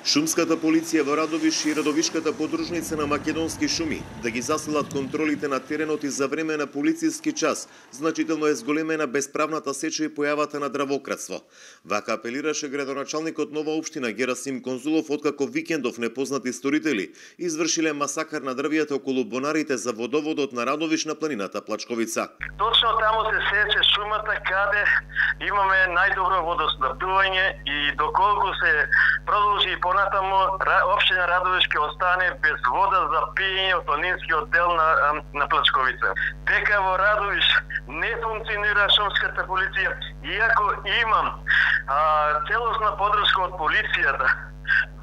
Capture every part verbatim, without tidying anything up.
Шумската полиција во Радовиш и Радовишката подружница на Македонски шуми да ги засилат контролите на теренот и за време на полициски час, значително е зголемена бесправната сеча и појавата на дравократство. Вака апелираше градоначалникот Нова општина Герасим Конзулов откако викендов непознати сторители извршиле масакар на дрвијата околу бонарите за водоводот на Радовиш на планината Плачковица. Точно таму се сече шумата каде имаме најдобро водоснабдување и доколку се продолжи и понатаму општина Радовиш ќе остане без вода за пиење од планинскиот дел на, на Плачковица. Дека во Радовиш не функционира шумската полиција, иако имам а, целосна подршка од полицијата,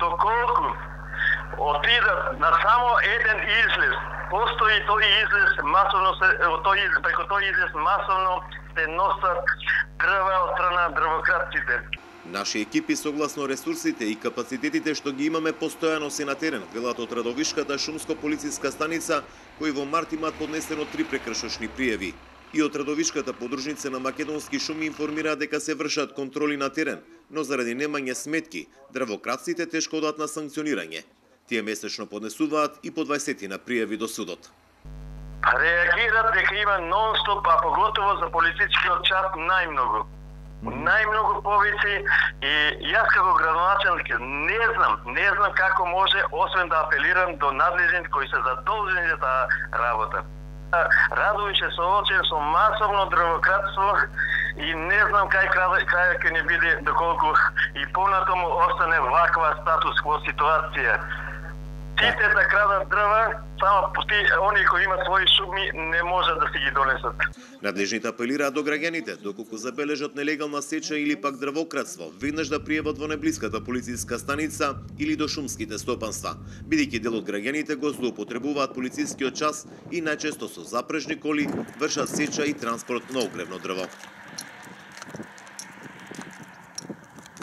доколку отидат на само еден излез, постои тој излез масовно се, тој излез, преку тој излез масовно се носат дрва од страна на дрвократците. Наши екипи согласно ресурсите и капацитетите што ги имаме постојано се на терен, велат од Радовишката шумско-полициска станица, кои во март имаат поднесено три прекршочни пријави. И од Радовишката подружница на Македонски шуми информира дека се вршат контроли на терен, но заради немање сметки, дрвократците тешко одат на санкционирање. Тие месечно поднесуваат и по дваесет на пријави до судот. Реагират дека има нон-стоп, а поготово за полицискиот час најмногу. Најмногу повици и јас како градоначалник не знам, не знам како може, освен да апелирам до надлежните кои се задолжени за таа работа. Радовиш е соочен со масовно дрвократство и не знам кај крај ќе не биде доколку и понатаму остане ваква статус-кво ситуација. Сите да крадат дрва, само пути они кои имат своји шуми не можат да си ги донесат. Надлежните апелираат до граѓаните, доколку забележат нелегална сеча или пак дрвократство, веднаш да пријават во најблиската полициска станица или до шумските стопанства, бидејќи дел од граѓаните го злоупотребуваат полицискиот час и најчесто со запрежни коли вршат сеча и транспорт на огревно дрво.